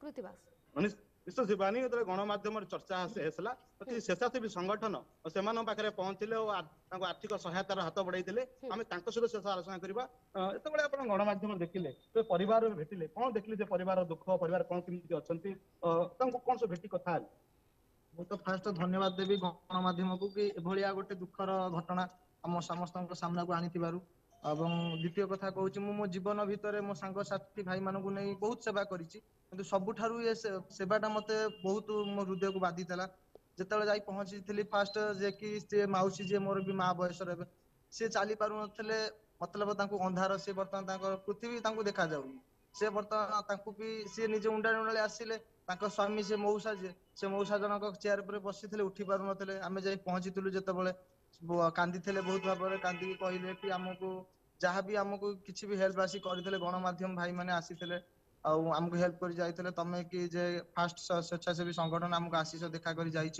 କୃତିବାସ। ନିଶ୍ଚୟ ଶିବାନୀ, ଯେତେବେଳେ ଗଣମାଧ୍ୟମରେ ଚର୍ଚ୍ଚା ଆସିଲା, ସ୍ବେଚ୍ଛାସେବୀ ସଂଗଠନ ସେମାନଙ୍କ ପାଖରେ ପହଞ୍ଚିଲେ ଓ ତାଙ୍କୁ ଆର୍ଥିକ ସହାୟତାର ହାତ ବଢେଇଥିଲେ। ଆମେ ତାଙ୍କ ସହିତ ଶେଷ ଆଲୋଚନା କରିବା। ଯେତେବେଳେ ଆପଣ ଗଣମାଧ୍ୟମରେ ଦେଖିଲେ, ପରିବାର ଭେଟିଲେ, କଣ ଦେଖିଲେ ଯେ ପରିବାର ଦୁଃଖ, ପରିବାର କଣ କେମିତି ଅଛନ୍ତି, ତାଙ୍କୁ କଣ ସବୁ ଭେଟି କଥା ହେଲେ? ମୁଁ ତ ଫାଷ୍ଟ ଧନ୍ୟବାଦ ଦେବି ଗଣମାଧ୍ୟମକୁ କି ଏଭଳିଆ ଗୋଟେ ଦୁଃଖର ଘଟଣା ଆମ ସମସ୍ତଙ୍କ ସାମ୍ନାକୁ ଆଣିଥିବାରୁ। ଏବଂ ଦ୍ୱିତୀୟ କଥା କହୁଛି, ମୁଁ ମୋ ଜୀବନ ଭିତରେ ମୋ ସାଙ୍ଗସାଥି ଭାଇମାନଙ୍କୁ ନେଇ ବହୁତ ସେବା କରିଛି, କିନ୍ତୁ ସବୁଠାରୁ ଏ ସେବାଟା ମତେ ବହୁତ ମୋ ହୃଦୟକୁ ବାଧିଥିଲା। ଯେତେବେଳେ ଯାଇ ପହଞ୍ଚିଥିଲି ଫାଷ୍ଟ, ଯେ କି ସେ ମାଉସୀ ଯିଏ ମୋର ବି ମା ବୟସର ହେବେ, ସେ ଚାଲି ପାରୁନଥିଲେ, ମତଲବ ତାଙ୍କୁ ଅନ୍ଧାର, ସେ ବର୍ତ୍ତମାନ ତାଙ୍କର ପୃଥିବୀ ତାଙ୍କୁ ଦେଖାଯାଉନି। ସେ ବର୍ତ୍ତମାନ ତାଙ୍କୁ ବି ସିଏ ନିଜେ ଉଣ୍ଡାଳି ଉଣ୍ଡାଳି ଆସିଲେ। ତାଙ୍କ ସ୍ୱାମୀ ସେ ମଉସା ଯିଏ, ସେ ମଉସା ଜଣକ ଚେୟାର ଉପରେ ବସିଥିଲେ, ଉଠି ପାରୁନଥିଲେ। ଆମେ ଯାଇ ପହଞ୍ଚିଥିଲୁ ଯେତେବେଳେ, କାନ୍ଦିଥିଲେ ବହୁତ ଭାବରେ, କାନ୍ଦିକି କହିଲେ କି ଆମକୁ ଯାହାବି ଆମକୁ କିଛି ବି ହେଲ୍ପ ଆସି କରିଥିଲେ, ଗଣମାଧ୍ୟମ ଭାଇମାନେ ଆସିଥିଲେ ଆଉ ଆମକୁ ହେଲ୍ପ କରି ଯାଇଥିଲେ। ତମେ କି ଯେ ଫାଷ୍ଟ ସ୍ବେଚ୍ଛାସେବୀ ସଂଗଠନ ଆମକୁ ଆସିଛ, ଦେଖା କରି ଯାଇଛ।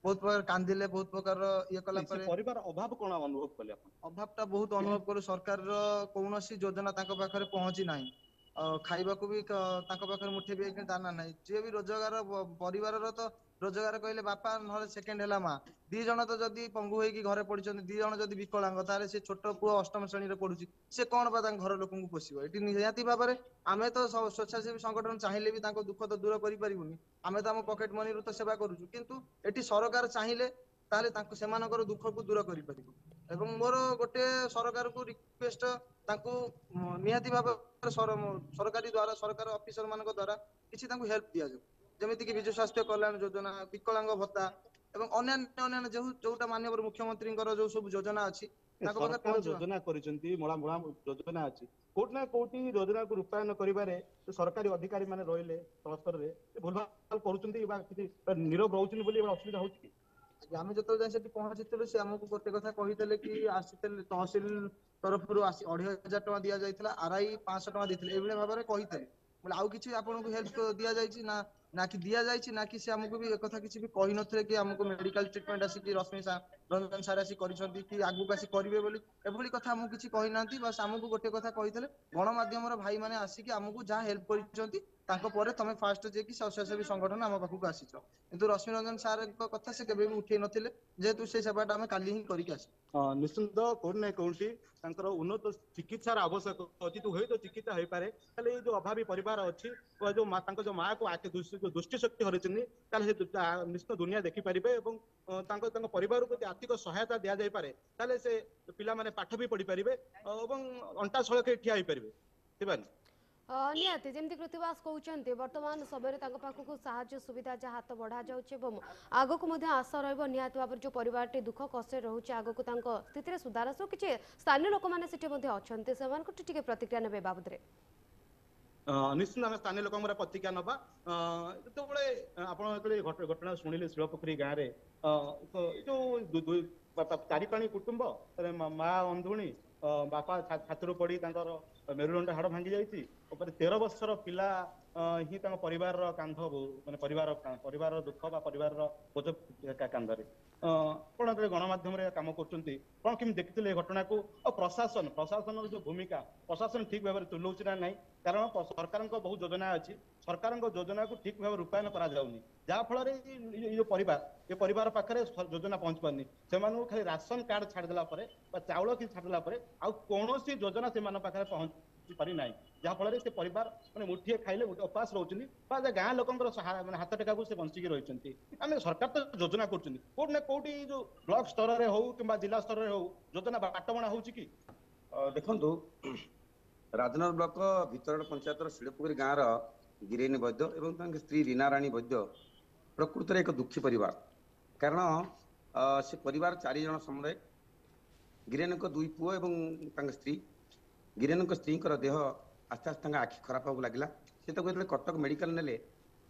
ବହୁତ ପ୍ରକାର କାନ୍ଦିଲେ, ବହୁତ ପ୍ରକାର ଇଏ କଲା ପରେ। ପରିବାର ଅଭାବ କଣ ଅନୁଭବ କଲେ ଆପଣ? ଅଭାବ ଟା ବହୁତ ଅନୁଭବ କଲୁ। ସରକାରର କୌଣସି ଯୋଜନା ତାଙ୍କ ପାଖରେ ପହଞ୍ଚି ନାହିଁ, ଖାଇବାକୁ ବି ତାଙ୍କ ପାଖରେ ମୁଠେ ବି ଦାନା ନାହିଁ। ଯିଏ ବି ରୋଜଗାର, ପରିବାରର ତ ରୋଜଗାର କହିଲେ ବାପା, ନହେଲେ ସେକେଣ୍ଡ ହେଲା ମା, ଦି ଜଣ ତ ଯଦି ପଙ୍ଗୁ ହେଇକି ଘରେ ପଡିଛନ୍ତି, ଦି ଜଣ ଯଦି ବିକଳାଙ୍ଗ, ତାହେଲେ ସେ ଛୋଟ ପୁଅ ଅଷ୍ଟମ ଶ୍ରେଣୀରେ ପଢୁଛି, ସେ କଣ ବା ତାଙ୍କ ଘର ଲୋକଙ୍କୁ ପୋଷିବ? ଏଠି ନିହାତି ଭାବରେ ଆମେ ତ ସ୍ବେଚ୍ଛାସେବୀ ସଂଗଠନ ଚାହିଁଲେ ବି ତାଙ୍କ ଦୁଃଖ ତ ଦୂର କରିପାରିବୁନି। ଆମେ ତ ଆମ ପକେଟ ମନିରୁ ତ ସେବା କରୁଛୁ, କିନ୍ତୁ ଏଠି ସରକାର ଚାହିଁଲେ ତାହେଲେ ତାଙ୍କୁ ସେମାନଙ୍କର ଦୁଃଖକୁ ଦୂର କରିପାରିବ। ଏବଂ ମୋର ଗୋଟେ ସରକାରକୁ ରିକ୍ୱେଷ୍ଟ, ତାଙ୍କୁ ନିହାତି ଭାବରେ ସରକାରୀ ଦ୍ଵାରା, ସରକାର ଅଫିସର ମାନଙ୍କ ଦ୍ଵାରା କିଛି ତାଙ୍କୁ ହେଲ୍ପ ଦିଆଯାଉ, ଯେମିତିକି ବିଜୁ ସ୍ୱାସ୍ଥ୍ୟ କଲ୍ୟାଣ ଯୋଜନା, ବିକଳାଙ୍ଗ ଭତ୍ତା ଏବଂ ଅନ୍ୟାନ୍ୟ ଅନ୍ୟାନ୍ୟ ଯୋଉ ଯୋଉଟା ମାନ୍ୟବର ମୁଖ୍ୟମନ୍ତ୍ରୀଙ୍କର ଯୋଉ ସବୁ ଯୋଜନା ଅଛି ତାଙ୍କ ପାଖରେ ସରକାର ପହଞ୍ଚିବା। ଯୋଜନା କରିଛନ୍ତି, ମଳା ମଳା ଯୋଜନା ଅଛି, କୋଉଠି ନା କୋଉଠି ଯୋଜନାକୁ ରୂପାୟନ କରିବାରେ ଯୋଉ ସରକାରୀ ଅଧିକାରୀ ମାନେ ରହିଲେ ତଳ ସ୍ତରରେ ଭୁଲଭାଲ କରୁଛନ୍ତି ବା କିଛି ନିରବ ରହୁଛନ୍ତି ବୋଲି ଅସୁବିଧା ହଉଛି କି? ଆଜ୍ଞା, ଆମେ ଯେତେବେଳେ ଯାଇ ସେଠି ପହଞ୍ଚିଥିଲୁ, ସେ ଆମକୁ ଗୋଟେ କଥା କହିଥିଲେ କି ଆସିଥିଲେ ତହସିଲ ତରଫରୁ ଆସି 2500 ଟଙ୍କା ଦିଆଯାଇଥିଲା, ଆର I 500 ଟଙ୍କା ଦେଇଥିଲେ, ଏଇଭଳି ଭାବରେ କହିଥିଲେ। ବୋଲେ ଆଉ କିଛି ଆପଣଙ୍କୁ ହେଲ୍ପ ଦିଆଯାଇଛି ନା ନା କି ଦିଆଯାଇଛି ନା କି, ସେ ଆମକୁ ବି ଏକଥା କିଛି ବି କହିନଥିଲେ କି ଆମକୁ ମେଡିକାଲ ଟ୍ରିଟମେଣ୍ଟ ଆସିକି ରଶ୍ମି ରଞ୍ଜନ ସାର୍ ଆସି କରିଛନ୍ତି କି ଆଗକୁ ଆସି କରିବେ ବୋଲି, ଏଭଳି କଥା ଆମକୁ କିଛି କହିନାହାନ୍ତି। ବାସ୍ ଆମକୁ ଗୋଟେ କଥା କହିଥିଲେ, ଗଣମାଧ୍ୟମର ଭାଇ ମାନେ ଆସିକି ଆମକୁ ଯାହା ହେଲ୍ପ କରିଛନ୍ତି, ତାଙ୍କ ପରେ ତମେ ଫାଷ୍ଟ ଯାଇକି ସ୍ୱେଚ୍ଛାସେବୀ ସଂଗଠନ ଆମ ପାଖକୁ ଆସିଛ। କିନ୍ତୁ ରଶ୍ମି ରଞ୍ଜନ ସାର୍ଙ୍କ କଥା ସେ କେବେ ବି ଉଠେଇ ନଥିଲେ, ଯେହେତୁ ସେ ସେବାଟା ଆମେ କାଲି ହିଁ କରିକି ଆସିଛୁ। ନିଶ୍ଚିନ୍ତ କୋଉଠି ନା କୋଉଠି ତାଙ୍କର ଉନ୍ନତ ଚିକିତ୍ସାର ଆବଶ୍ୟକ ଅଛି। ତ ହୁଏତ ଚିକିତ୍ସା ହେଇପାରେ, ତାହେଲେ ଏଇ ଯୋଉ ଅଭାବୀ ପରିବାର ଅଛି ବା ଯୋଉ ମା, ତାଙ୍କ ଯୋଉ ମାକୁ ଆଖି ଯୋଉ ଦୃଷ୍ଟି ଶକ୍ତି ହରାଇଛନ୍ତି, ତାହେଲେ ସେ ନିଶ୍ଚିତ ଦୁନିଆ ଦେଖିପାରିବେ ଏବଂ ତାଙ୍କ ତାଙ୍କ ପରିବାରକୁ ଯଦି ଆର୍ଥିକ ସହାୟତା ଦିଆଯାଇପାରେ, ତାହେଲେ ସେ ପିଲାମାନେ ପାଠ ବି ପଢିପାରିବେ ଏବଂ ଅଣ୍ଟା ସଳଖେ ଠିଆ ହେଇପାରିବେ। ଶିବାନୀ। ନିହାତି ଯେମିତି କୃତିବାସ କହୁଛନ୍ତି, ବର୍ତ୍ତମାନ ସମୟରେ ତାଙ୍କ ପାଖକୁ ସାହାଯ୍ୟ ସୁବିଧା ଯାହା ହାତ ବଢ଼ାଯାଉଛି ଏବଂ ଆଗକୁ ମଧ୍ୟ ଆଶା ରହିବ ନିହାତି ଭାବରେ ଯେଉଁ ପରିବାରଟି ଦୁଃଖ କଷ୍ଟରେ ରହୁଛି, ଆଗକୁ ତାଙ୍କ ସ୍ଥିତିରେ ସୁଧାର ଆସିବ। କିଛି ସ୍ଥାନୀୟ ଲୋକମାନେ ସେଠି ମଧ୍ୟ ଅଛନ୍ତି, ସେମାନଙ୍କଠୁ ଟିକେ ପ୍ରତିକ୍ରିୟା ନେବେ ବାବଦରେ। ନିଶ୍ଚିତ ଆମେ ସ୍ଥାନୀୟ ଲୋକଙ୍କର ପ୍ରତିକ୍ରିୟା ନବା। ଯେତେବେଳେ ଆପଣ ଯେତେବେଳେ ଘଟଣା ଶୁଣିଲେ, ଶିଳପୋଖରୀ ଗାଁରେ ଯୋଉ ଚାରିପାଣି କୁଟୁମ୍ବ, ମା ଅନ୍ଧୁଣୀ, ବାପା ଛାତରୁ ପଡି ତାଙ୍କର ମେରୁଦଣ୍ଡ ହାଡ଼ ଭାଙ୍ଗି ଯାଇଛି, ଉପରେ 13 ବର୍ଷର ପିଲା ହିଁ ତାଙ୍କ ପରିବାରର କାନ୍ଧ, ମାନେ ପରିବାରର ଦୁଃଖ ବା ପରିବାରର ବୋଝ କାନ୍ଧରେ। ଆପଣ ଯେତେବେଳେ ଗଣମାଧ୍ୟମରେ କାମ କରୁଛନ୍ତି, କଣ କେମିତି ଦେଖିଥିଲେ ଏ ଘଟଣାକୁ? ଆଉ ପ୍ରଶାସନର ଯୋଉ ଭୂମିକା, ପ୍ରଶାସନ ଠିକ ଭାବରେ ତୁଲଉଛି ନା ନାହିଁ? କାରଣ ସରକାରଙ୍କ ବହୁ ଯୋଜନା ଅଛି, ସରକାରଙ୍କ ଯୋଜନାକୁ ଠିକ ଭାବେ ରୂପାୟନ କରାଯାଉନି, ଯାହା ଫଳରେ ଏଇ ଯୋଉ ପରିବାର, ଏ ପରିବାର ପାଖରେ ଯୋଜନା ପହଞ୍ଚି ପାରୁନି। ସେମାନଙ୍କୁ ଖାଲି ରାସନ କାର୍ଡ ଛାଡ଼ିଦେଲା ପରେ ବା ଚାଉଳ କିଛି ଛାଡ଼ିଦେଲା ପରେ ଆଉ କୌଣସି ଯୋଜନା ସେମାନଙ୍କ ପାଖରେ ପହଞ୍ଚି ପାରିନାହିଁ, ଯାହା ଫଳରେ ସେ ପରିବାର ମାନେ ମୁଠିଏ ଖାଇଲେ ଗୋଟେ ଉପାସ ରହୁଛନ୍ତି ବା ଗାଁ ଲୋକଙ୍କର ମାନେ ହାତ ଟେକାକୁ ସେ ବଞ୍ଚିକି ରହିଛନ୍ତି। ଆମେ ସରକାର ତ ଯୋଜନା କରୁଛନ୍ତି, କୋଉଠି ନା କୋଉଠି ଯୋଉ ବ୍ଲକ ସ୍ତରରେ ହଉ କିମ୍ବା ଜିଲ୍ଲା ସ୍ତରରେ ହଉ, ଯୋଜନା ବାଟବଣା ହଉଛି କି? ଦେଖନ୍ତୁ, ରାଜନଗର ବ୍ଲକ ଭିତରଡ଼ ପଞ୍ଚାୟତର ଶିଳପୋଖରୀ ଗାଁର ଗିରେନି ବୈଦ୍ୟ ଏବଂ ତାଙ୍କ ସ୍ତ୍ରୀ ରୀନା ରାଣୀ ବୈଦ୍ୟ ପ୍ରକୃତରେ ଏକ ଦୁଃଖୀ ପରିବାର। କାରଣ ସେ ପରିବାର 4 ଜଣ ସମୁଦାୟ, ଗିରେନଙ୍କ 2 ପୁଅ ଏବଂ ତାଙ୍କ ସ୍ତ୍ରୀ। ଗିରେନଙ୍କ ସ୍ତ୍ରୀଙ୍କର ଦେହ ଆସ୍ତେ ଆସ୍ତେ ତାଙ୍କ ଆଖି ଖରାପ ହେବାକୁ ଲାଗିଲା। ସେ ତାକୁ ଯେତେବେଳେ କଟକ ମେଡିକାଲ ନେଲେ,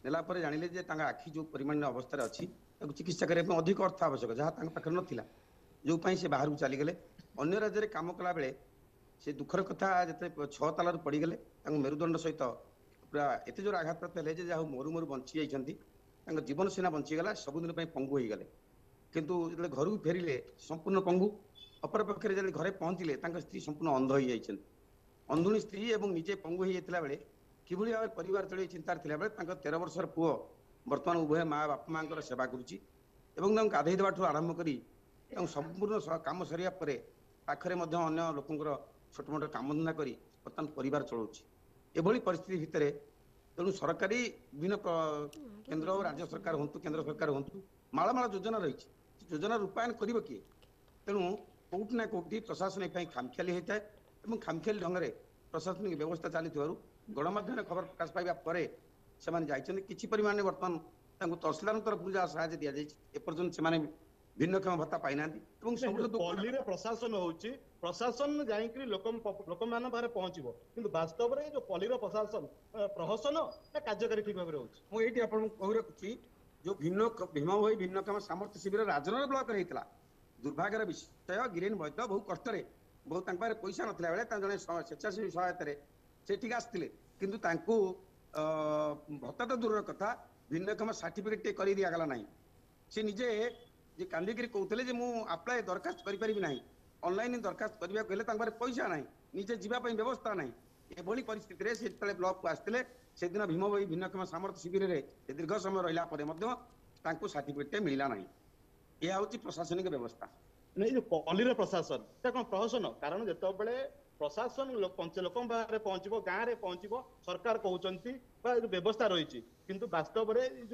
ନେଲା ପରେ ଜାଣିଲେ ଯେ ତାଙ୍କ ଆଖି ଯେଉଁ ପରିମାଣର ଅବସ୍ଥାରେ ଅଛି, ତାକୁ ଚିକିତ୍ସା କରିବା ପାଇଁ ଅଧିକ ଅର୍ଥ ଆବଶ୍ୟକ, ଯାହା ତାଙ୍କ ପାଖରେ ନଥିଲା, ଯେଉଁ ପାଇଁ ସେ ବାହାରକୁ ଚାଲିଗଲେ। ଅନ୍ୟ ରାଜ୍ୟରେ କାମ କଲାବେଳେ ସେ ଦୁଃଖର କଥା, ଯେତେବେଳେ 6 ତାଲାରୁ ପଡ଼ିଗଲେ, ତାଙ୍କ ମେରୁଦଣ୍ଡ ସହିତ ପୁରା ଏତେ ଜୋର ଆଘାତପ୍ରାପ୍ତ ହେଲେ ଯେ ଯାହା ହଉ ମରୁ ମରୁ ବଞ୍ଚି ଯାଇଛନ୍ତି। ତାଙ୍କ ଜୀବନ ସିନା ବଞ୍ଚିଗଲା, ସବୁଦିନ ପାଇଁ ପଙ୍ଗୁ ହେଇଗଲେ। କିନ୍ତୁ ଯେତେବେଳେ ଘରକୁ ଫେରିଲେ ସମ୍ପୂର୍ଣ୍ଣ ପଙ୍ଗୁ। ଅପରପକ୍ଷରେ ଯେତେବେଳେ ଘରେ ପହଞ୍ଚିଲେ, ତାଙ୍କ ସ୍ତ୍ରୀ ସମ୍ପୂର୍ଣ୍ଣ ଅନ୍ଧ ହେଇଯାଇଛନ୍ତି। ଅନ୍ଧୁଣୀ ସ୍ତ୍ରୀ ଏବଂ ନିଜେ ପଙ୍ଗୁ ହେଇଯାଇଥିଲା ବେଳେ କିଭଳି ଭାବରେ ପରିବାର ଚଳେଇ ଚିନ୍ତାରେ ଥିଲାବେଳେ ତାଙ୍କ 13 ବର୍ଷର ପୁଅ ବର୍ତ୍ତମାନ ଉଭୟ ମା ବାପା ମାଙ୍କର ସେବା କରୁଛି ଏବଂ ତାଙ୍କୁ ଗାଧେଇ ଦେବାଠୁ ଆରମ୍ଭ କରି ତାଙ୍କୁ ସମ୍ପୂର୍ଣ୍ଣ କାମ ସରିବା ପରେ ପାଖରେ ମଧ୍ୟ ଅନ୍ୟ ଲୋକଙ୍କର ଛୋଟ ମୋଟ କାମଧନ୍ଦା କରି ବର୍ତ୍ତମାନ ପରିବାର ଚଳାଉଛି। ଏଭଳି ପରିସ୍ଥିତି ଭିତରେ ତେଣୁ ସରକାରୀ ବିଭିନ୍ନ କେନ୍ଦ୍ର ଓ ରାଜ୍ୟ ସରକାର ହୁଅନ୍ତୁ, କେନ୍ଦ୍ର ସରକାର ହୁଅନ୍ତୁ, ମାଳ ମାଳ ଯୋଜନା ରହିଛି, ଯୋଜନା ରୂପାୟନ କରିବ କିଏ? ତେଣୁ କୋଉଠି ନା କୋଉଠି ପ୍ରଶାସନ ଏ ପାଇଁ ଖାମଖିଆଲି ହେଇଥାଏ ଏବଂ ଖାମଖିଆଲି ଢଙ୍ଗରେ ପ୍ରଶାସନିକ ବ୍ୟବସ୍ଥା ଚାଲିଥିବାରୁ ଗଣମାଧ୍ୟମରେ ଖବର ପ୍ରକାଶ ପାଇବା ପରେ ସେମାନେ ଯାଇଛନ୍ତି। କିଛି ପରିମାଣରେ ବର୍ତ୍ତମାନ ତାଙ୍କୁ ତହସିଲଦାରଙ୍କ ତରଫରୁ ଯାହା ସାହାଯ୍ୟ ଦିଆଯାଇଛି, ଏପର୍ଯ୍ୟନ୍ତ ସେମାନେ ଭିନ୍ନକ୍ଷମ ଭତ୍ତା ପାଇନାହାନ୍ତି। ଏବଂ ସବୁଠୁ ପଲ୍ଲୀରେ ପ୍ରଶାସନ ହଉଛି, ପ୍ରଶାସନ ଯାଇକିରି ଲୋକ ଲୋକମାନଙ୍କ ପାଖରେ ପହଞ୍ଚିବ, କିନ୍ତୁ ବାସ୍ତବରେ ଯୋଉ ପଲ୍ଲୀର ପ୍ରଶାସନ ପ୍ରହସନ ନା କାର୍ଯ୍ୟକାରୀ ଠିକ ଭାବରେ ହଉଛି? ମୁଁ ଏଇଠି ଆପଣଙ୍କୁ କହି ରଖୁଛି, ଯୋଉ ଭିନ୍ନ ଭୀମ ଭୋଇ ଭିନ୍ନକ୍ଷମ ସାମର୍ଥ୍ୟ ଶିବିର ରାଜନଗର ବ୍ଲକରେ ହେଇଥିଲା, ଦୁର୍ଭାଗ୍ୟର ବିଷୟ ଗିରେନ ବୈଦ୍ୟ ବହୁ କଷ୍ଟରେ, ବହୁ ତାଙ୍କ ପାଖରେ ପଇସା ନଥିଲା ବେଳେ ତାଙ୍କ ଜଣେ ସ୍ୱେଚ୍ଛାସେବୀ ସହାୟତାରେ ସେଠିକି ଆସିଥିଲେ। କିନ୍ତୁ ତାଙ୍କୁ ଭତ୍ତା ତ ଦୂରର କଥା, ଭିନ୍ନକ୍ଷମ ସାର୍ଟିଫିକେଟ ଟିକେ କରି ଦିଆଗଲା ନାହିଁ। ସେ ନିଜେ ଯେ କାନ୍ଦିକିରି କହୁଥିଲେ ଯେ ମୁଁ ଆପ୍ଲାଏ ଦରଖାସ୍ତ କରିପାରିବି ନାହିଁ, ଅନଲାଇନ ଦରଖାସ୍ତ କରିବାକୁ ହେଲେ ତାଙ୍କ ପାଖରେ ପଇସା ନାହିଁ, ନିଜେ ଯିବା ପାଇଁ ବ୍ୟବସ୍ଥା ନାହିଁ। ଏଭଳି ପରିସ୍ଥିତିରେ ସେ ଯେତେବେଳେ ବ୍ଲକକୁ ଆସିଥିଲେ, ସେଦିନ ଭୀମ ଭୋଇ ଭିନ୍ନକ୍ଷମ ସାମର୍ଥ୍ୟ ଶିବିରରେ ଦୀର୍ଘ ସମୟ ରହିଲା ପରେ ମଧ୍ୟ ତାଙ୍କୁ ସାର୍ଟିଫିକେଟ ମିଳିଲା ନାହିଁ। ଏହା ହେଉଛି ପ୍ରଶାସନିକ ବ୍ୟବସ୍ଥା। ଏଇ ଯୋଉ ପଲ୍ଲୀର ପ୍ରଶାସନ, ସେଟା କଣ ପ୍ରହସନ? କାରଣ ଯେତେବେଳେ ପ୍ରଶାସନ ଲୋକଙ୍କ ପାଖରେ ପହଞ୍ଚିବ, ଗାଁରେ ପହଞ୍ଚିବ, ସରକାର କହୁଛନ୍ତି ବା ଯୋଉ ବ୍ୟବସ୍ଥା ରହିଛି, କିନ୍ତୁ ବାସ୍ତବରେ ଏଇ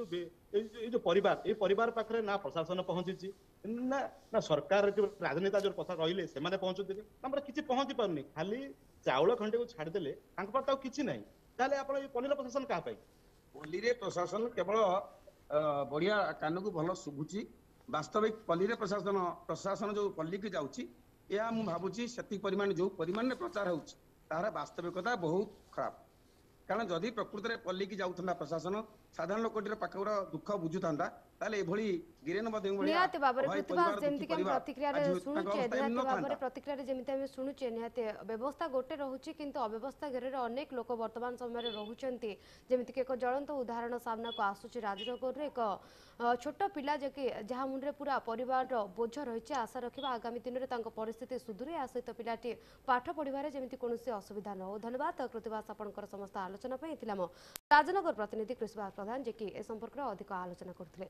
ଯୋଉ ପରିବାର, ଏଇ ପରିବାର ପାଖରେ ନା ପ୍ରଶାସନ ପହଞ୍ଚିଛି ନା ନା ସରକାର, ଯୋଉ ରାଜନେତା ଯୋଉ ପ୍ରଶାସନ ରହିଲେ ସେମାନେ ପହଞ୍ଚୁଥିଲେ, ଆମର କିଛି ପହଞ୍ଚି ପାରୁନି। ଖାଲି ଚାଉଳ ଖଣ୍ଡେକୁ ଛାଡ଼ିଦେଲେ ତାଙ୍କ ପାଖରେ ଆଉ କିଛି ନାହିଁ। ତାହେଲେ ଆପଣ ଏଇ ପଲ୍ଲୀର ପ୍ରଶାସନ କାହା ପାଇଁ? ପଲ୍ଲୀରେ ପ୍ରଶାସନ କେବଳ ବଢିଆ କାନକୁ ଭଲ ଶୁଭୁଛି, ବାସ୍ତବିକ ପଲ୍ଲୀରେ ପ୍ରଶାସନ ପ୍ରଶାସନ ଯୋଉ ପଲ୍ଲୀକୁ ଯାଉଛି, ଏହା ମୁଁ ଭାବୁଛି ସେତିକି ପରିମାଣ ଯୋଉ ପରିମାଣରେ ପ୍ରଚାର ହେଉଛି ତାହାର ବାସ୍ତବିକତା ବହୁତ ଖରାପ। କାରଣ ଯଦି ପ୍ରକୃତରେ ପଲ୍ଲୀକି ଯାଉଥାନ୍ତା ପ୍ରଶାସନ, ସାଧାରଣ ଲୋକଟିର ପାଖର ଦୁଃଖ ବୁଝୁଥାନ୍ତା, ତାହେଲେ ଏଭଳି ଗିରେନ ବୈଦ୍ୟଙ୍କ ଭଳିଆ ନିହାତି ଭାବରେ ଅଭାବୀ କୃତିବାସ, ପରିବାର, ଦୁଃଖୀ ଯେମିତିକି ଆମେ ପରିବାର ପ୍ରତିକ୍ରିୟାରେ ଆଜି ତାଙ୍କ ଶୁଣୁଛେ, ଅବସ୍ଥା ଏମିତି ନିହାତି ଭାବରେ ନଥାନ୍ତା। ପ୍ରତିକ୍ରିୟାରେ ଯେମିତି ଆମେ ଶୁଣୁଛେ, ନିହାତି ବ୍ୟବସ୍ଥା ଗୋଟେ ରହୁଛି କିନ୍ତୁ ଅବ୍ୟବସ୍ଥା ଘେରରେ ଅନେକ ଲୋକ ବର୍ତ୍ତମାନ ସମୟରେ ରହୁଛନ୍ତି। ଯେମିତିକି ଏକ ଜ୍ୱଳନ୍ତ ଉଦାହରଣ ସାମ୍ନାକୁ ଆସୁଛି ରାଜନଗରରୁ, ଏକ ଛୋଟ ପିଲା ଯେ କି ଯାହା ମୁଣ୍ଡରେ ପୁରା ପରିବାରର ବୋଝ ରହିଛି। ଆଶା ରଖିବା ଆଗାମୀ ଦିନରେ ତାଙ୍କ ପରିସ୍ଥିତି ସୁଧୁରେ, ଏହା ସହିତ ପିଲାଟି ପାଠ ପଢ଼ିବାରେ ଯେମିତି କୌଣସି ଅସୁବିଧା ନ ହଉ। ଧନ୍ୟବାଦ କୃତିବାସ ଆପଣଙ୍କର ସମସ୍ତ ଆଲୋଚନା ପାଇଁ। ଥିଲା ଆମ ରାଜନଗର ପ୍ରତିନିଧି କୃଷିବାସ ପ୍ରଧାନ, ଯିଏକି ଏ ସମ୍ପର୍କରେ ଅଧିକ ଆଲୋଚନା କରୁଥିଲେ।